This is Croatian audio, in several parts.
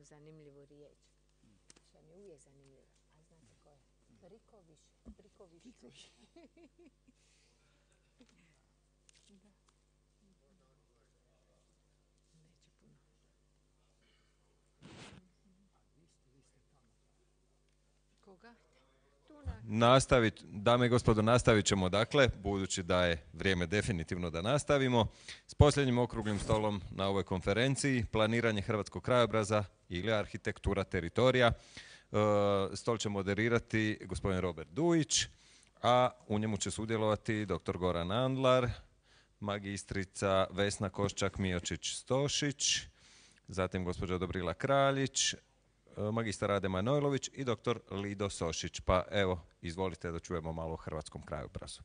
jednu zanimljivu riječ. Što mi je uvijek zanimljiva. A znate ko je? Briković. Briković. Da. Neće puno. Koga? Dame i gospodo, nastavit ćemo dakle, budući da je vrijeme definitivno da nastavimo, s posljednjim okruglim stolom na ovoj konferenciji, planiranje hrvatskog krajobraza ili arhitektura teritorija. Stol će moderirati gospodin Robert Dujić, a u njemu će sudjelovati dr. Goran Andlar, magistrica Vesna Koščak-Miočić-Stošić, zatim gospođa Dobrila Kraljić, magistar Rade Manojlović i dr. Lido Sošić. Pa evo, izvolite da čujemo malo o hrvatskom krajobrazu.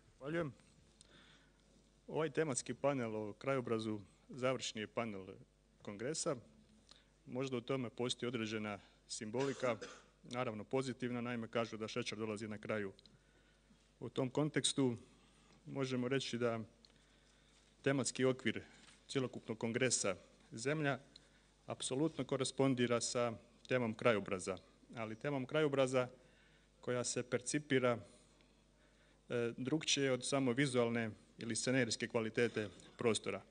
Zahvaljujem. Ovaj tematski panel o krajobrazu završni je panel kongresa. Možda u tome postoji određena simbolika, naravno pozitivna, naime kažu da šećer dolazi na kraju. U tom kontekstu možemo reći da tematski okvir cjelokupnog kongresa Zemlja apsolutno korespondira sa temom krajobraza, ali temom krajobraza koja se percipira drukčije od samo vizualne ili scenerijske kvalitete prostora,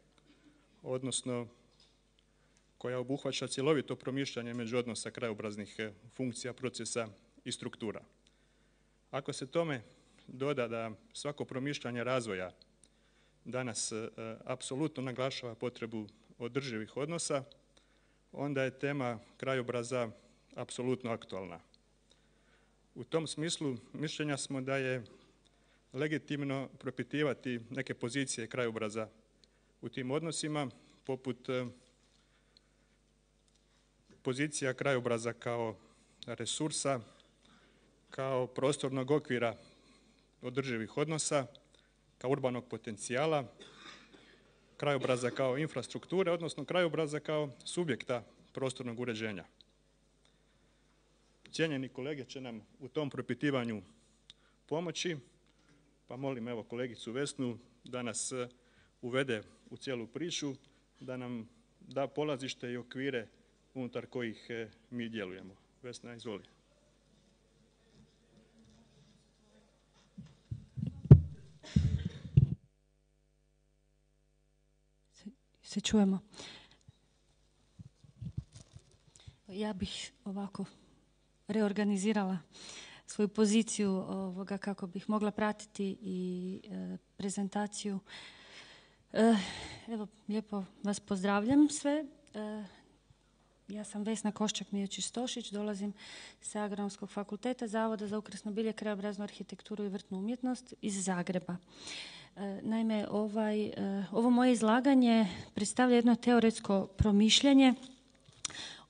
odnosno koja obuhvaća cjelovito promišljanje među odnosa krajobraznih funkcija, procesa i struktura. Ako se tome doda da svako promišljanje razvoja danas apsolutno naglašava potrebu održivih odnosa, onda je tema krajobraza apsolutno aktualna. U tom smislu mišljenja smo da je legitimno propitivati neke pozicije krajobraza u tim odnosima, poput pozicija krajobraza kao resursa, kao prostornog okvira održivih odnosa, kao urbanog potencijala, krajobraza kao infrastrukture, odnosno krajobraza kao subjekta prostornog uređenja. Cijenjeni kolege će nam u tom propitivanju pomoći, pa molim evo kolegicu Vesnu da nas uvede u cijelu priču, da nam da polazište i okvire unutar kojih mi djelujemo. Vesna, izvoli. Se čujemo. Ja bih ovako reorganizirala svoju poziciju kako bih mogla pratiti i prezentaciju. Evo, lijepo vas pozdravljam sve. Ja sam Vesna Koščak-Miočić-Stošić, dolazim sa Agronomskog fakulteta Zavoda za ukrasno bilje, krajobraznu arhitekturu i vrtnu umjetnost iz Zagreba. Naime, ovo moje izlaganje predstavlja jedno teoretsko promišljanje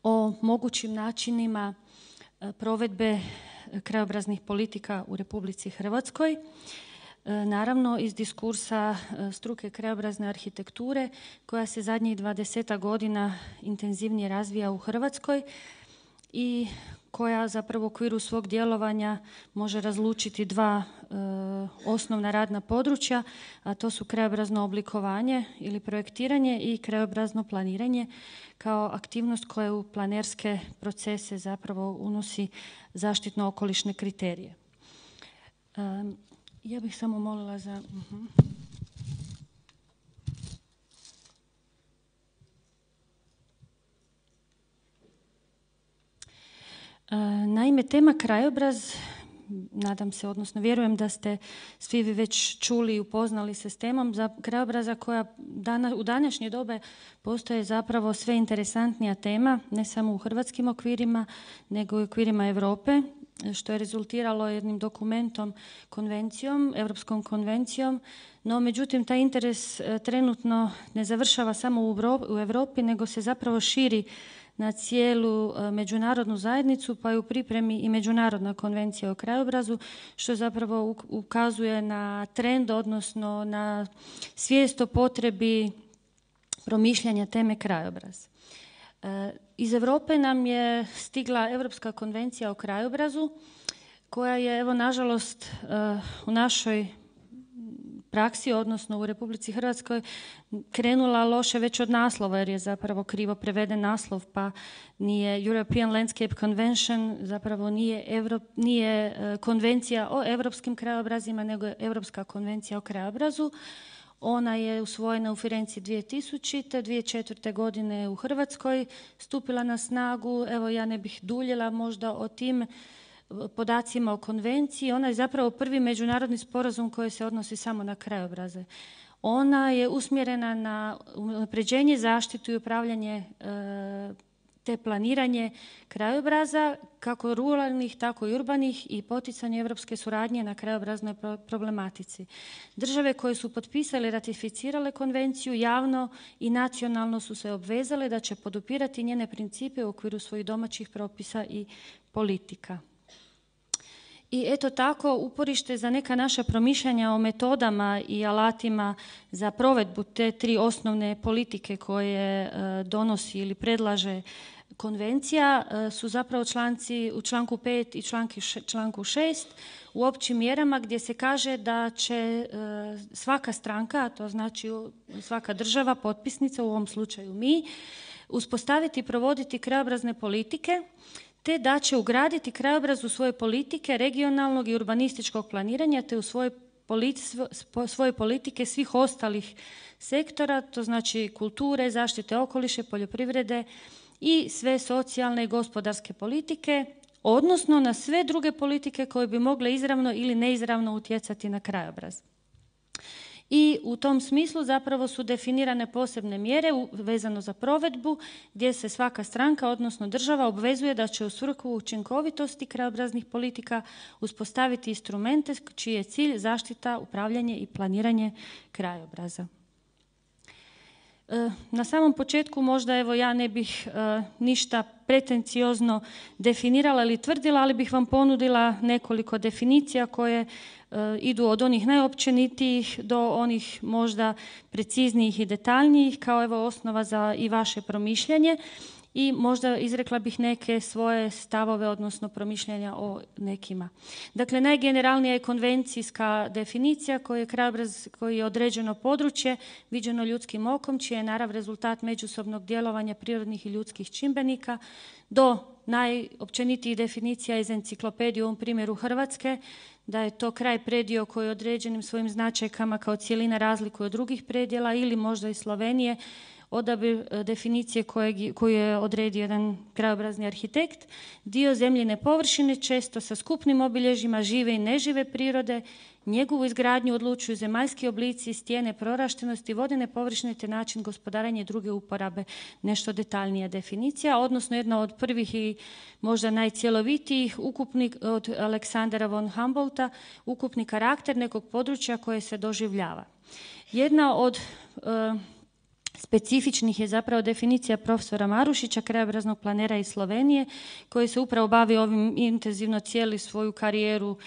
o mogućim načinima provedbe krajobraznih politika u Republici Hrvatskoj. Naravno, iz diskursa struke krajobrazne arhitekture koja se zadnjih 20 godina intenzivnije razvija u Hrvatskoj i koja zapravo u okviru svog djelovanja može razlučiti dva osnovna radna područja, a to su krajobrazno oblikovanje ili projektiranje i krajobrazno planiranje kao aktivnost koja u planerske procese zapravo unosi zaštitno-okolišne kriterije. Ja bih samo molila za... Naime, tema krajobraz, nadam se, odnosno vjerujem da ste svi vi već čuli i upoznali se s temom za krajobraza koja u današnje dobe postaje zapravo sve interesantnija tema, ne samo u hrvatskim okvirima, nego i u okvirima Europe, što je rezultiralo jednim dokumentom, konvencijom, Europskom konvencijom, no međutim taj interes trenutno ne završava samo u Europi, nego se zapravo širi na cijelu međunarodnu zajednicu, pa je u pripremi i Međunarodna konvencija o krajobrazu, što zapravo ukazuje na trend, odnosno na svijest o potrebi promišljanja teme krajobraz. Iz Europe nam je stigla Europska konvencija o krajobrazu, koja je, evo, nažalost, u našoj praksi, odnosno u Republici Hrvatskoj, krenula loše već od naslova, jer je zapravo krivo preveden naslov, pa nije European Landscape Convention, zapravo nije konvencija o europskim krajobrazima, nego je Europska konvencija o krajobrazu. Ona je usvojena u Firenci 2000. 2004. godine u Hrvatskoj, stupila na snagu. Evo, ja ne bih duljila možda o tim podacima o konvenciji. Ona je zapravo prvi međunarodni sporazum koji se odnosi samo na krajobraze. Ona je usmjerena na unapređenje, zaštitu i upravljanje te planiranje krajobraza, kako ruralnih, tako i urbanih, i poticanje europske suradnje na krajobraznoj problematici. Države koje su potpisale i ratificirale konvenciju javno i nacionalno su se obvezale da će podupirati njene principe u okviru svojih domaćih propisa i politika. I eto tako, uporište za neka naša promišljanja o metodama i alatima za provedbu te tri osnovne politike koje donosi ili predlaže konvencija su zapravo članci u članku 5 i članku 6 u općim mjerama, gdje se kaže da će svaka stranka, a to znači svaka država potpisnica, u ovom slučaju mi, uspostaviti i provoditi krajobrazne politike, te da će ugraditi krajobraz u svoje politike regionalnog i urbanističkog planiranja, te u svoje politike svih ostalih sektora, to znači kulture, zaštite okoliša, poljoprivrede i sve socijalne i gospodarske politike, odnosno na sve druge politike koje bi mogle izravno ili neizravno utjecati na krajobraz. I u tom smislu zapravo su definirane posebne mjere vezano za provedbu, gdje se svaka stranka, odnosno država, obvezuje da će u svrhu učinkovitosti krajobraznih politika uspostaviti instrumente čiji je cilj zaštita, upravljanje i planiranje krajobraza. Na samom početku možda evo ja ne bih ništa pretenciozno definirala ili tvrdila, ali bih vam ponudila nekoliko definicija koje idu od onih najopćenitijih do onih možda preciznijih i detaljnijih, kao evo osnova za i vaše promišljanje, i možda izrekla bih neke svoje stavove, odnosno promišljanja o nekima. Dakle, najgeneralnija je konvencijska definicija koji je krajobraz, koji je određeno područje viđeno ljudskim okom, čiji je narav rezultat međusobnog djelovanja prirodnih i ljudskih čimbenika, do najopćenitijih definicija iz enciklopedije, u ovom primjeru Hrvatske, da je to kraj predio koji je određenim svojim značajkama kao cjelina razlikuje od drugih predjela, ili možda i Slovenije, odabir definicije koju je odredio jedan krajobrazni arhitekt, dio zemljine površine, često sa skupnim obilježjima žive i nežive prirode, njegovu izgradnju odlučuju zemaljski oblici, stijene, proraštenosti, vodene površine te način gospodarenja i druge uporabe. Nešto detaljnija definicija, odnosno jedna od prvih i možda najcjelovitijih, ukupni od Aleksandra von Humboldta, ukupni karakter nekog područja koje se doživljava. Jedna od specifičnih je zapravo definicija profesora Marušića, krajobraznog planera iz Slovenije, koji se upravo bavi ovim intenzivno cijeli svoju karijeru,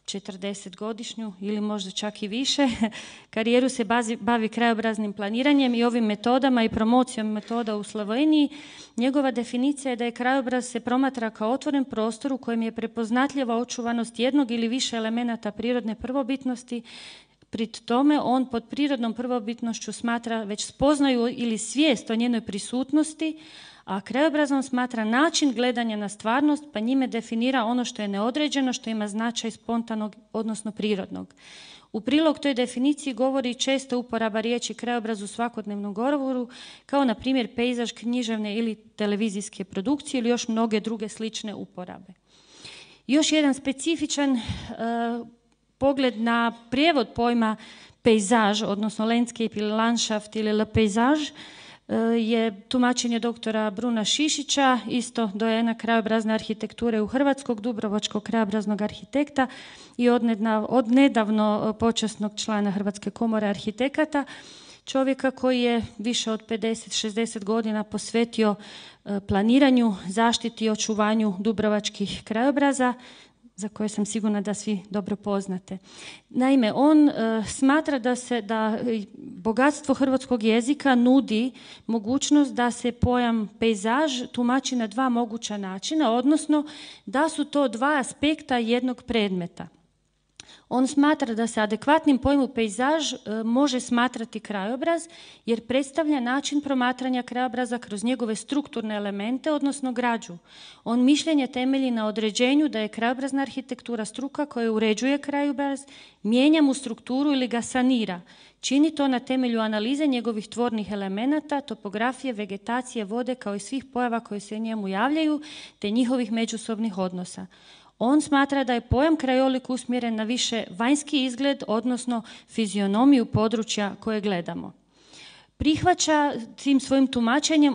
40-godišnju ili možda čak i više. Karijeru se bavi krajobraznim planiranjem i ovim metodama i promocijom metoda u Sloveniji. Njegova definicija je da je krajobraz se promatra kao otvoren prostor u kojem je prepoznatljiva očuvanost jednog ili više elemenata prirodne prvobitnosti. Pri tome on pod prirodnom prvobitnošću smatra već spoznaju ili svijest o njenoj prisutnosti, a krajobrazom smatra način gledanja na stvarnost, pa njime definira ono što je neodređeno, što ima značaj spontanog, odnosno prirodnog. U prilog toj definiciji govori često uporaba riječi krajobraz u svakodnevnom govoru, kao na primjer pejzaž, književne ili televizijske produkcije ili još mnoge druge slične uporabe. Još jedan specifičan pogled na prijevod pojma pejzaž, odnosno landscape ili landschaft ili le paysage, je tumačenje doktora Bruna Šišića, isto dojena krajobrazne arhitekture u Hrvatskog, dubrovačkog krajobraznog arhitekta i od nedavno počasnog člana Hrvatske komore arhitekata, čovjeka koji je više od 50-60 godina posvetio planiranju, zaštiti i očuvanju dubrovačkih krajobraza, za koje sam sigurna da svi dobro poznate. Naime, on smatra da bogatstvo hrvatskog jezika nudi mogućnost da se pojam pejzaž tumači na dva moguća načina, odnosno da su to dva aspekta jednog predmeta. On smatra da se adekvatnim pojmu pejzaž može smatrati krajobraz jer predstavlja način promatranja krajobraza kroz njegove strukturne elemente, odnosno građu. On mišljenje temelji na određenju da je krajobrazna arhitektura struka koja uređuje krajobraz, mijenja mu strukturu ili ga sanira. Čini to na temelju analize njegovih tvornih elemenata, topografije, vegetacije, vode kao i svih pojava koje se njemu javljaju, te njihovih međusobnih odnosa. On smatra da je pojam krajolik usmjeren na više vanjski izgled, odnosno fizionomiju područja koje gledamo. Prihvaća tim svojim tumačenjem,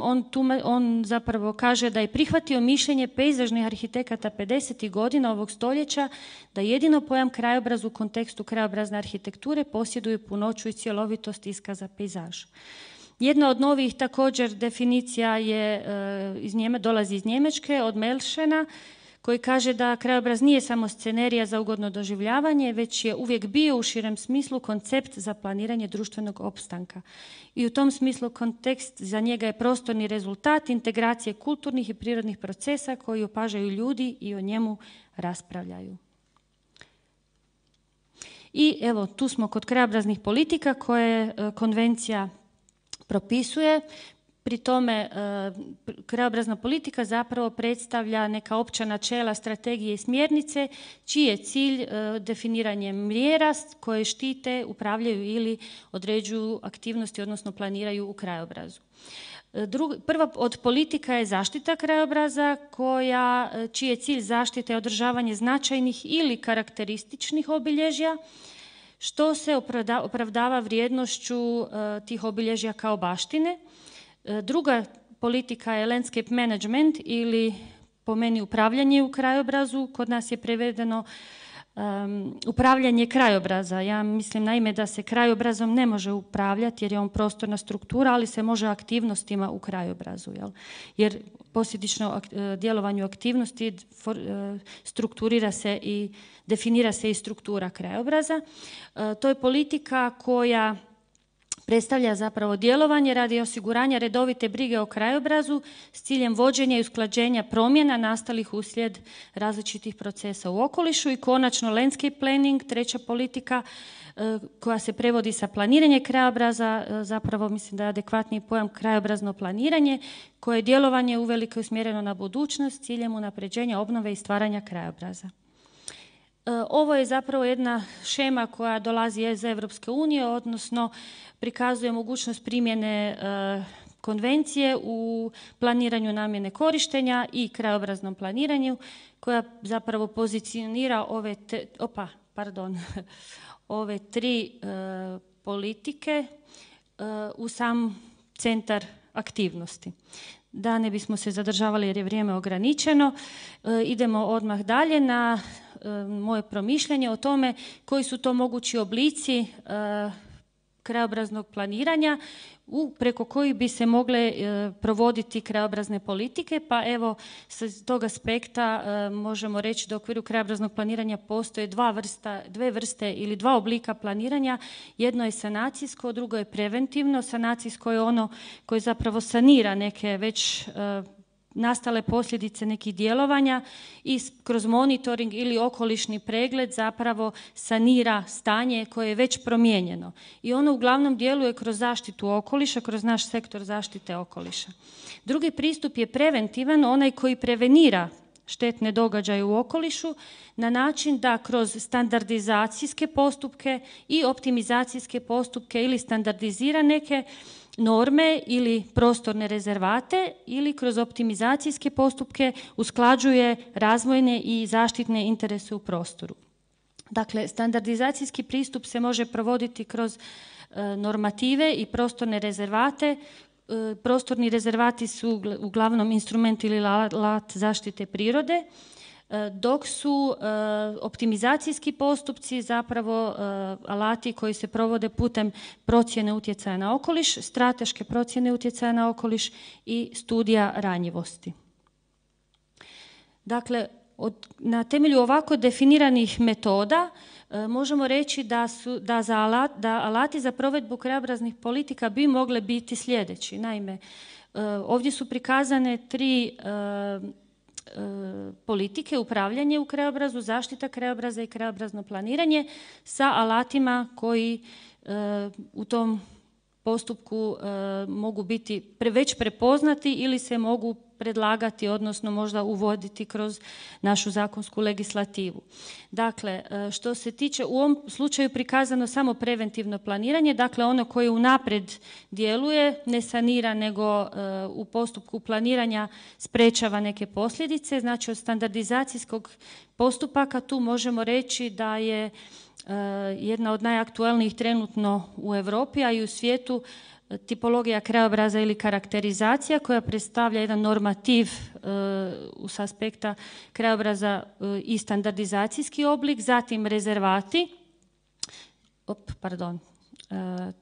on zapravo kaže da je prihvatio mišljenje pejzažnih arhitekata 50. godina ovog stoljeća da jedino pojam krajobraz u kontekstu krajobrazne arhitekture posjeduje punoću i cjelovitost iskaza pejzaž. Jedna od novih također definicija dolazi iz Njemačke, od Melšena, koji kaže da krajobraz nije samo scenerija za ugodno doživljavanje, već je uvijek bio u širem smislu koncept za planiranje društvenog opstanka. I u tom smislu kontekst za njega je prostorni rezultat integracije kulturnih i prirodnih procesa koji opažaju ljudi i o njemu raspravljaju. I evo, tu smo kod krajobraznih politika koje konvencija propisuje. Pri tome krajobrazna politika zapravo predstavlja neka opća načela, strategije i smjernice čiji je cilj definiranje mjera koje štite, upravljaju ili određuju aktivnosti, odnosno planiraju u krajobrazu. Prva od politika je zaštita krajobraza čiji je cilj zaštite i održavanje značajnih ili karakterističnih obilježja, što se opravdava vrijednošću tih obilježja kao baštine. Druga politika je landscape management ili po meni upravljanje u krajobrazu. Kod nas je prevedeno upravljanje krajobraza. Ja mislim naime da se krajobrazom ne može upravljati jer je on prostorna struktura, ali se može aktivnostima u krajobrazu. Jer posljedično djelovanju aktivnosti strukturira se i definira se i struktura krajobraza. To je politika koja predstavlja zapravo djelovanje radi osiguranja redovite brige o krajobrazu s ciljem vođenja i usklađenja promjena nastalih uslijed različitih procesa u okolišu. I konačno landscape planning, treća politika koja se prevodi sa planiranje krajobraza, zapravo mislim da je adekvatniji pojam krajobrazno planiranje, koje je djelovanje uvelike usmjereno na budućnost s ciljem unapređenja obnove i stvaranja krajobraza. Ovo je zapravo jedna šema koja dolazi iz Europske unije, odnosno prikazuje mogućnost primjene konvencije u planiranju namjene korištenja i krajobraznom planiranju, koja zapravo pozicionira ove tri politike u sam centar aktivnosti. Da ne bismo se zadržavali jer je vrijeme ograničeno, idemo odmah dalje na moje promišljanje o tome koji su to mogući oblici krajobraznog planiranja preko kojih bi se mogle provoditi krajobrazne politike. Pa evo, s tog aspekta možemo reći da u okviru krajobraznog planiranja postoje dve vrste ili dva oblika planiranja. Jedno je sanacijsko, drugo je preventivno. Sanacijsko je ono koje zapravo sanira neke već nastale posljedice nekih djelovanja i kroz monitoring ili okolišni pregled zapravo sanira stanje koje je već promijenjeno. I ono uglavnom djeluje kroz zaštitu okoliša, kroz naš sektor zaštite okoliša. Drugi pristup je preventivan, onaj koji prevenira štetne događaje u okolišu na način da kroz standardizacijske postupke i optimizacijske postupke ili standardizira neke norme ili prostorne rezervate ili kroz optimizacijske postupke usklađuje razvojne i zaštitne interese u prostoru. Dakle, standardizacijski pristup se može provoditi kroz normative i prostorne rezervate. Prostorni rezervati su uglavnom instrument ili alat zaštite prirode, dok su optimizacijski postupci zapravo alati koji se provode putem procjene utjecaja na okoliš, strateške procjene utjecaja na okoliš i studija ranjivosti. Dakle, na temelju ovako definiranih metoda možemo reći da alati za provedbu krajobraznih politika bi mogle biti sljedeći. Naime, ovdje su prikazane tri politike, upravljanje u krajobrazu, zaštita krajobraza i krajobrazno planiranje sa alatima koji u tom postupku mogu biti već prepoznati ili se mogu predlagati, odnosno možda uvoditi kroz našu zakonsku legislativu. Dakle, što se tiče u ovom slučaju prikazano samo preventivno planiranje, dakle ono koje unaprijed djeluje, ne sanira nego u postupku planiranja sprečava neke posljedice. Znači od standardizacijskog postupaka tu možemo reći da je jedna od najaktualnijih trenutno u Europi, a i u svijetu, tipologija krajobraza ili karakterizacija koja predstavlja jedan normativ s aspekta krajobraza i standardizacijski oblik, zatim rezervati,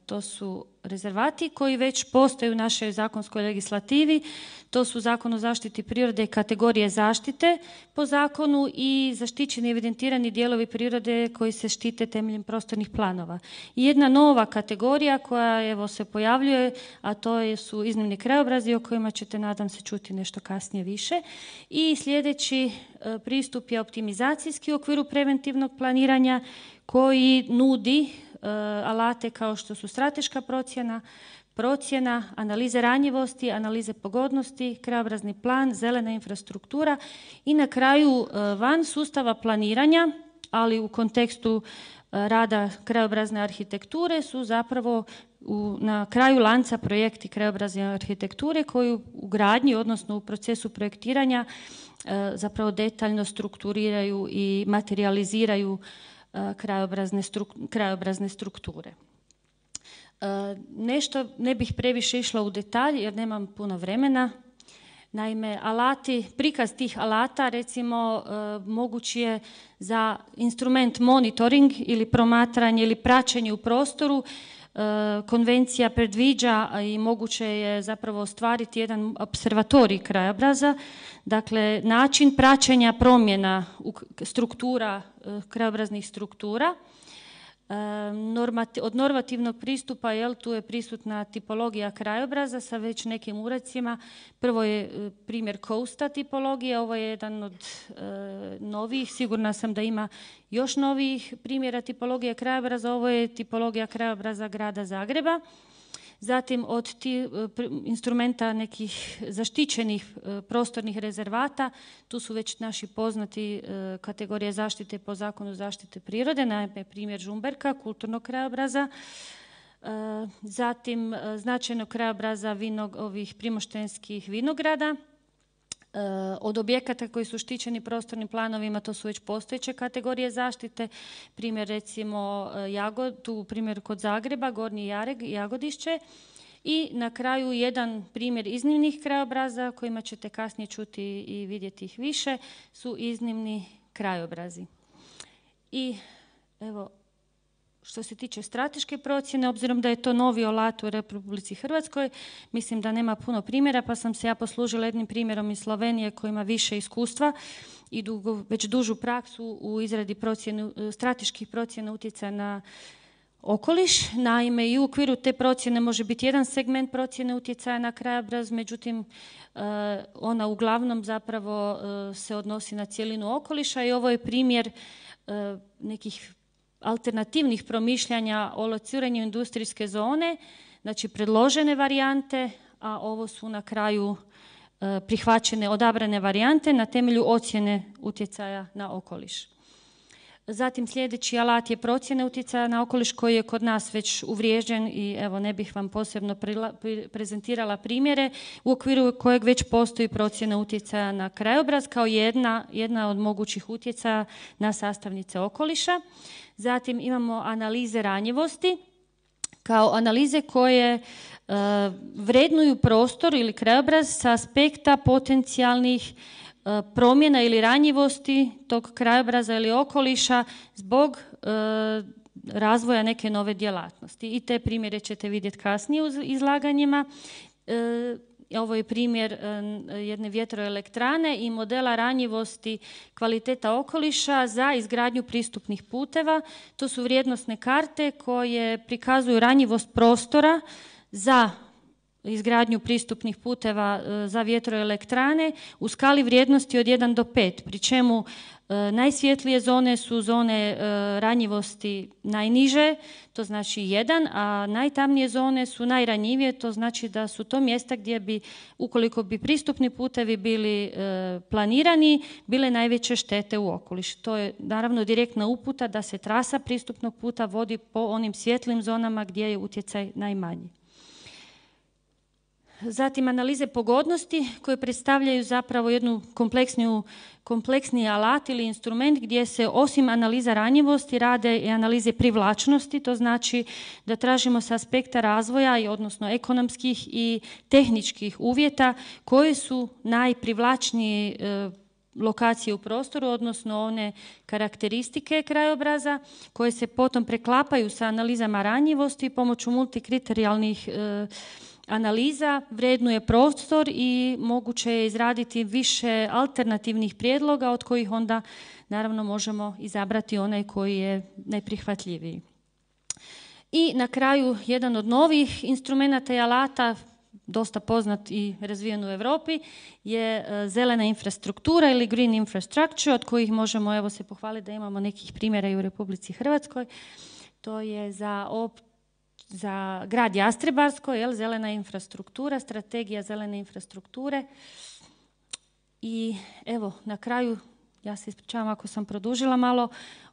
to su rezervati koji već postoje u našoj zakonskoj legislativi. To su Zakon o zaštiti prirode i kategorije zaštite po zakonu i zaštićeni evidentirani dijelovi prirode koji se štite temeljem prostornih planova. I jedna nova kategorija koja se pojavljuje, a to su iznimni krajobrazi o kojima ćete, nadam se, čuti nešto kasnije više. I sljedeći pristup je optimizacijski u okviru preventivnog planiranja koji nudi alate kao što su strateška procjena, analize ranjivosti, analize pogodnosti, krajobrazni plan, zelena infrastruktura i na kraju van sustava planiranja, ali u kontekstu rada krajobrazne arhitekture su zapravo na kraju lanca projekti krajobrazne arhitekture koji u gradnji, odnosno u procesu projektiranja zapravo detaljno strukturiraju i materializiraju krajobrazne strukture. Nešto ne bih previše išla u detalj jer nemam puno vremena. Naime, prikaz tih alata recimo moguć je za instrument monitoring ili promatranje ili praćenje u prostoru. Konvencija predviđa i moguće je zapravo ostvariti jedan observatorij krajobraza, dakle način praćenja promjena struktura, krajobraznih struktura. Od normativnog pristupa tu je prisutna tipologija krajobraza sa već nekim uradcima. Prvo je primjer Coasta tipologije, ovo je jedan od novijih, sigurna sam da ima još novijih primjera tipologije krajobraza, ovo je tipologija krajobraza grada Zagreba. Zatim od instrumenta nekih zaštićenih prostornih rezervata, tu su već naši poznati kategorije zaštite po zakonu zaštite prirode, naime primjer Žumberka, kulturnog krajobraza. Zatim značajnog krajobraza ovih primoštenskih vinograda. Od objekata koji su štićeni prostornim planovima, to su već postojeće kategorije zaštite, primjer recimo primjer kod Zagreba, Gornji Jareg i Jagodišće. I na kraju jedan primjer iznimnih krajobraza, kojima ćete kasnije čuti i vidjeti ih više, su iznimni krajobrazi. I evo, što se tiče strateške procjene, obzirom da je to novi alat u Republici Hrvatskoj, mislim da nema puno primjera, pa sam se ja poslužila jednim primjerom iz Slovenije koji ima više iskustva i već dužu praksu u izradi strateških procjena utjecaja na okoliš. Naime, i u okviru te procjene može biti jedan segment procjene utjecaja na krajobraz, međutim ona uglavnom zapravo se odnosi na cjelinu okoliša i ovo je primjer nekih alternativnih promišljanja o lociranju industrijske zone, znači predložene varijante, a ovo su na kraju prihvaćene, odabrane varijante na temelju ocjene utjecaja na okoliš. Zatim sljedeći alat je procjena utjecaja na okoliš koji je kod nas već uvriježen i evo ne bih vam posebno prezentirala primjere u okviru kojeg već postoji procjena utjecaja na krajobraz kao jedna od mogućih utjecaja na sastavnice okoliša. Zatim imamo analize ranjivosti kao analize koje vrednuju prostor ili krajobraz sa aspekta potencijalnih promjena ili ranjivosti tog krajobraza ili okoliša zbog razvoja neke nove djelatnosti. I te primjere ćete vidjeti kasnije u izlaganjima. Ovo je primjer jedne vjetroelektrane i modela ranjivosti kvaliteta okoliša za izgradnju pristupnih puteva. To su vrijednosne karte koje prikazuju ranjivost prostora za izgradnju pristupnih puteva za vjetroelektrane u skali vrijednosti od 1 do 5, pri čemu najsvjetlije zone su zone ranjivosti najniže, to znači 1, a najtamnije zone su najranjivije, to znači da su to mjesta gdje bi, ukoliko bi pristupni putevi bili planirani, bile najveće štete u okoliš. To je naravno direktna uputa da se trasa pristupnog puta vodi po onim svjetlim zonama gdje je utjecaj najmanji. Zatim analize pogodnosti koje predstavljaju zapravo jednu kompleksniji alat ili instrument gdje se osim analiza ranjivosti rade i analize privlačnosti, to znači da tražimo s aspekta razvoja, odnosno ekonomskih i tehničkih uvjeta koje su najprivlačnije lokacije u prostoru, odnosno one karakteristike krajobraza koje se potom preklapaju sa analizama ranjivosti pomoću multikriterijalnih analiza, vrednuje prostor i moguće je izraditi više alternativnih prijedloga od kojih onda naravno možemo izabrati onaj koji je najprihvatljiviji. I na kraju jedan od novih instrumenata i alata, dosta poznat i razvijen u Europi, je zelena infrastruktura ili green infrastructure, od kojih možemo evo se pohvaliti da imamo nekih primjera i u Republici Hrvatskoj. To je za grad Jastrebarsko, zelena infrastruktura, strategija zelene infrastrukture. I evo, na kraju, ja se ispričavam ako sam produžila malo,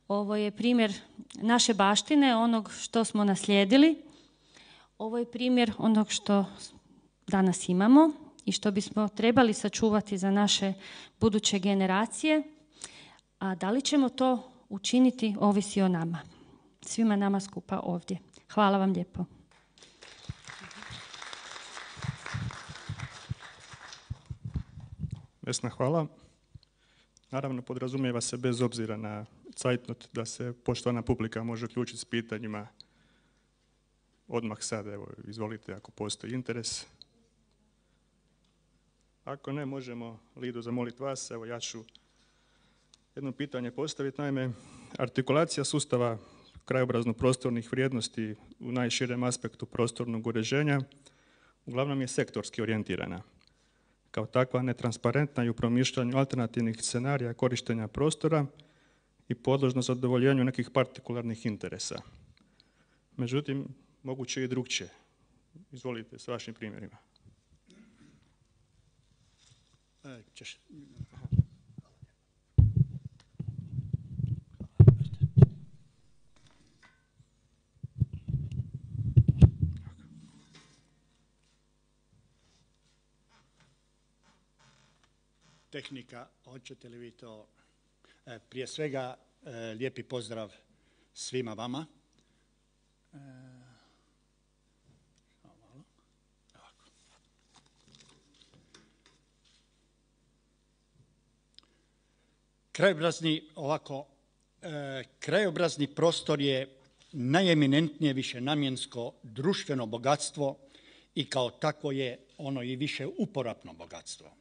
ovo je primjer naše baštine, onog što smo naslijedili. Ovo je primjer onog što danas imamo i što bismo trebali sačuvati za naše buduće generacije. A da li ćemo to učiniti, ovisi o nama. Svima nama skupa ovdje. Hvala vam lijepo. Vesna, hvala. Naravno, podrazumijeva se bez obzira na cajtnot da se poštovana publika može uključiti s pitanjima odmah sad. Evo, izvolite ako postoji interes. Ako ne, možemo Lidu zamoliti vas. Evo, ja ću jedno pitanje postaviti. Naime, artikulacija sustava krajobrazno-prostornih vrijednosti u najširem aspektu prostornog uređenja uglavnom je sektorski orijentirana. Kao takva netransparentna i u promišljanju alternativnih scenarija korištenja prostora i podložno zadovoljenju nekih partikularnih interesa. Međutim, moguće i drugčije. Izvolite s vašim primjerima. Tehnika, hoćete li vi to? Prije svega, lijepi pozdrav svima vama. Krajobrazni prostor je najeminentnije višenamjensko društveno bogatstvo i kao takvo je ono i više uporabno bogatstvo.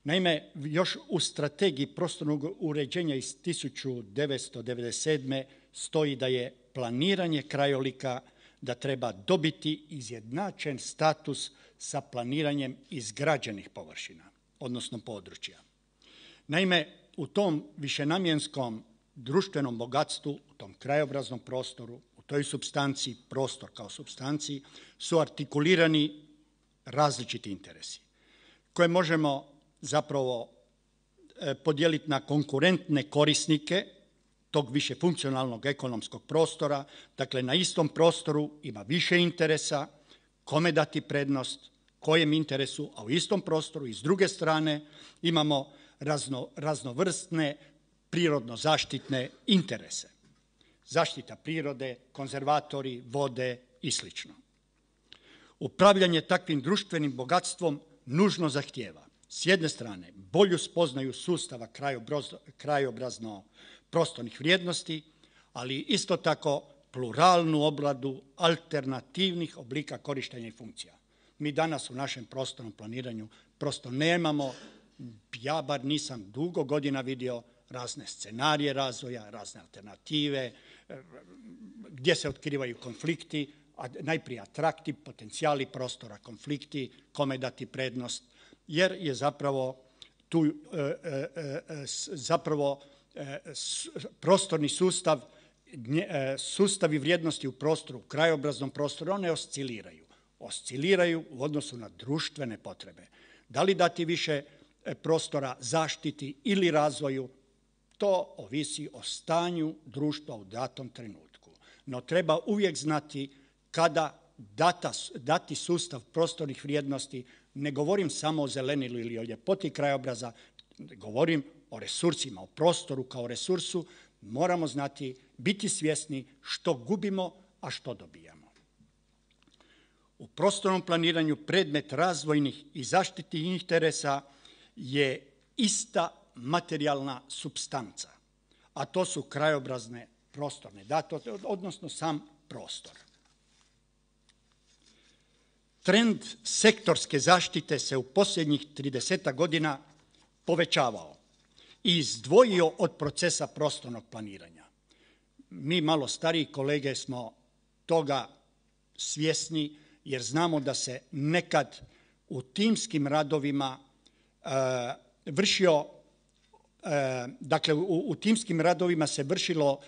Naime, još u strategiji prostornog uređenja iz 1997. stoji da je planiranje krajolika da treba dobiti izjednačen status sa planiranjem izgrađenih površina, odnosno područja. Naime, u tom višenamjenskom društvenom bogatstvu, u tom krajobraznom prostoru, u toj supstanciji, prostor kao supstanciji, su artikulirani različiti interesi koje možemo zapravo podijeliti na konkurentne korisnike tog višefunkcionalnog ekonomskog prostora. Dakle, na istom prostoru ima više interesa, kome dati prednost, kojem interesu, a u istom prostoru i s druge strane imamo raznovrstne prirodno-zaštitne interese. Zaštita prirode, konzervatori, vode i sl. Upravljanje takvim društvenim bogatstvom nužno zahtijeva s jedne strane bolju spoznaju sustava krajobrazno-prostornih vrijednosti, ali isto tako pluralnu obradu alternativnih oblika korištenja i funkcija. Mi danas u našem prostornom planiranju prosto nemamo, ja bar nisam dugo godina vidio razne scenarije razvoja, razne alternative, gdje se otkrivaju konflikti, najprije atrakti, potencijali prostora, konflikti, kome dati prednost, jer je zapravo tu prostorni sustav, sustavi vrijednosti u prostoru, u krajobraznom prostoru, one osciliraju u odnosu na društvene potrebe. Da li dati više prostora zaštiti ili razvoju, to ovisi o stanju društva u datom trenutku. No treba uvijek znati kada dati sustav prostornih vrijednosti, ne govorim samo o zelenilu ili o ljepoti krajobraza, govorim o resursima, o prostoru kao resursu, moramo znati, biti svjesni što gubimo, a što dobijamo. U prostornom planiranju predmet razvojnih i zaštitnih interesa je ista materijalna supstanca, a to su krajobrazne prostorne datote, odnosno sam prostor. Trend sektorske zaštite se u posljednjih 30 godina povećavao i izdvojio od procesa prostornog planiranja. Mi malo stariji kolege smo toga svjesni jer znamo da se nekad u timskim radovima u timskim radovima se vršilo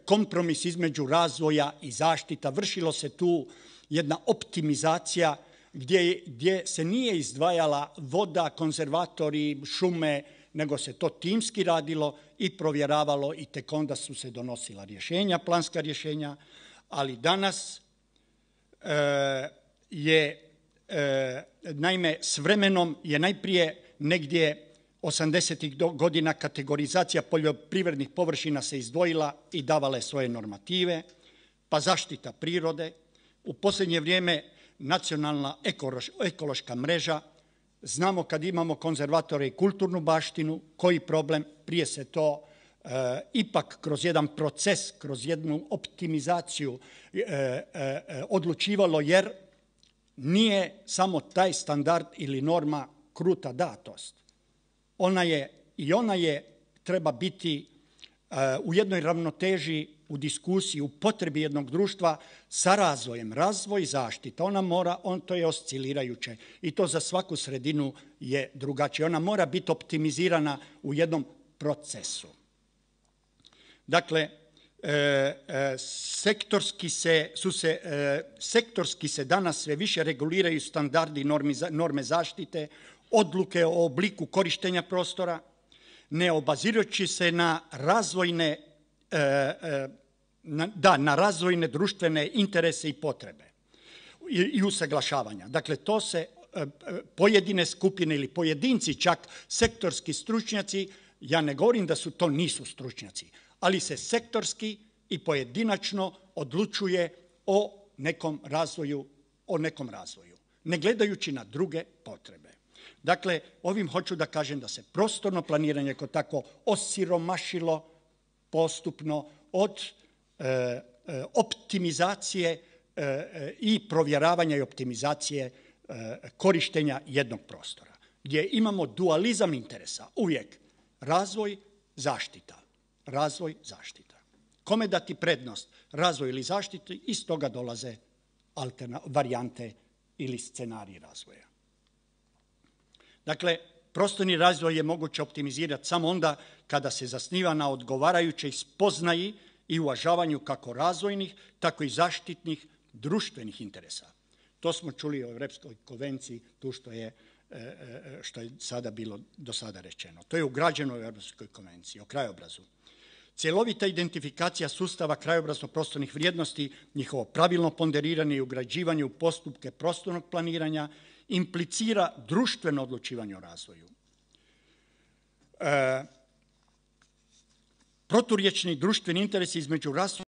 kompromis između razvoja i zaštita, vršilo se tu jedna optimizacija gdje se nije izdvajala voda, konzervatori, šume, nego se to timski radilo i provjeravalo i tek onda su se donosila rješenja, planska rješenja, ali danas naime, s vremenom je najprije negdje 80-ih godina kategorizacija poljoprivrednih površina se izdvojila i davala je svoje normative, pa zaštita prirode. U posljednje vrijeme nacionalna ekološka mreža. Znamo kad imamo konzervatore i kulturnu baštinu, koji problem, prije se to ipak kroz jedan proces, kroz jednu optimizaciju odlučivalo, jer nije samo taj standard ili norma kruta datost. Ona treba biti u jednoj ravnoteži, u diskusiji, u potrebi jednog društva sa razvojem. Razvoj i zaštita, to je oscilirajuće i to za svaku sredinu je drugačije. Ona mora biti optimizirana u jednom procesu. Dakle, sektorski se danas sve više reguliraju standardi norme zaštite, odluke o obliku korištenja prostora, ne obazirujući se na razvojne društvene interese i potrebe i usaglašavanja. Dakle, to se pojedine skupine ili pojedinci, čak sektorski stručnjaci, ja ne govorim da to nisu stručnjaci, ali se sektorski i pojedinačno odlučuje o nekom razvoju, ne gledajući na druge potrebe. Dakle, ovim hoću da kažem da se prostorno planiranje kao tako osiromašilo postupno od optimizacije i provjeravanja i optimizacije korištenja jednog prostora, gdje imamo dualizam interesa, uvijek razvoj, zaštita. Razvoj, zaštita. Kome dati prednost, razvoj ili zaštiti, iz toga dolaze varijante ili scenariji razvoja. Dakle, prostorni razvoj je moguće optimizirati samo onda kada se zasniva na odgovarajućoj spoznaji i uvažavanju kako razvojnih, tako i zaštitnih društvenih interesa. To smo čuli o Europskoj konvenciji, tu što je sada bilo do sada rečeno. To je ugrađeno u Europskoj konvenciji o krajobrazu. Cjelovita identifikacija sustava krajobrazno-prostornih vrijednosti, njihovo pravilno ponderiranje i ugrađivanje u postupke prostornog planiranja implicira društveno odlučivanje o razvoju. Proturječni društveni interesi između razvoja